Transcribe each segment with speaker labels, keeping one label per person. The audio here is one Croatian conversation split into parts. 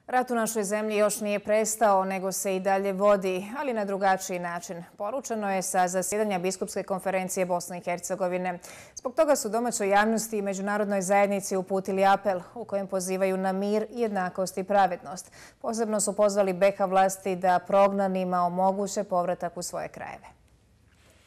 Speaker 1: Rat u našoj zemlji još nije prestao, nego se i dalje vodi, ali na drugačiji način. Poručeno je sa zasjedanja Biskupske konferencije Bosne i Hercegovine. Zbog toga su domaćoj javnosti i međunarodnoj zajednici uputili apel u kojem pozivaju na mir, jednakost i pravednost. Posebno su pozvali BiH vlasti da prognanima omoguće povratak u svoje krajeve.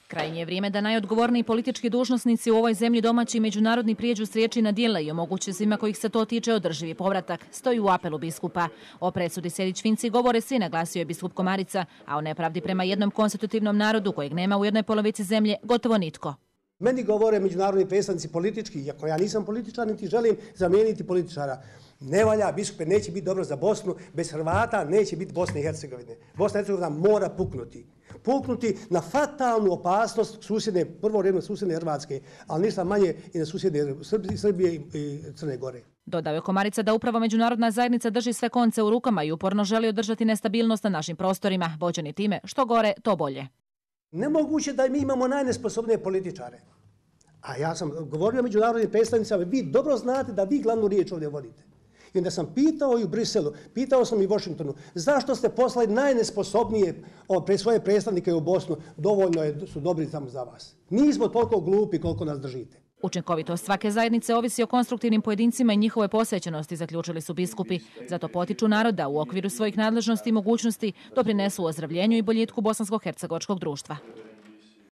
Speaker 2: Krajnje je vrijeme da najodgovorniji politički dužnosnici u ovoj zemlji domaći i međunarodni prijeđu s riječi na djela i omoguće svima kojih se to tiče održivi povratak, stoji u apelu biskupa. O presudi Sejdić-Finci govore svi, naglasio je biskup Komarica, a o nepravdi prema jednom konstitutivnom narodu kojeg nema u jednoj polovici zemlje gotovo nitko.
Speaker 3: Meni govore međunarodni predstavnici politički, iako ja nisam političar, niti želim zamijeniti političara. Ne valja, biskupe, neće biti dobro za Bosnu, bez Hrvata neće biti Bosne i Hercegovine. Bosna i Hercegovina mora puknuti. Puknuti na fatalnu opasnost susjedne, prvo redu susjedne Hrvatske, ali ništa manje i na susjedne Srbije i Crne Gore.
Speaker 2: Dodao je Komarica da upravo međunarodna zajednica drži sve konce u rukama i uporno želi održati nestabilnost na našim prostorima, vođeni time što gore, to bolje.
Speaker 3: Nemoguće da mi imamo najnesposobnije političare. A ja sam govorio međunarodnim predstavnicama, vi dobro znate da vi glavnu riječ ovdje vodite. I onda sam pitao i u Briselu, pitao sam i u Washingtonu, zašto ste poslali najnesposobnije svoje predstavnike u Bosnu, dovoljno su dobri samo za vas. Nismo toliko glupi koliko nas držite.
Speaker 2: Učinkovitost svake zajednice ovisi o konstruktivnim pojedincima i njihove posvećenosti, zaključili su biskupi. Zato potiču naroda u okviru svojih nadležnosti i mogućnosti doprinesu ozdravljenju i boljitku bosansko-hercegovačkog društva.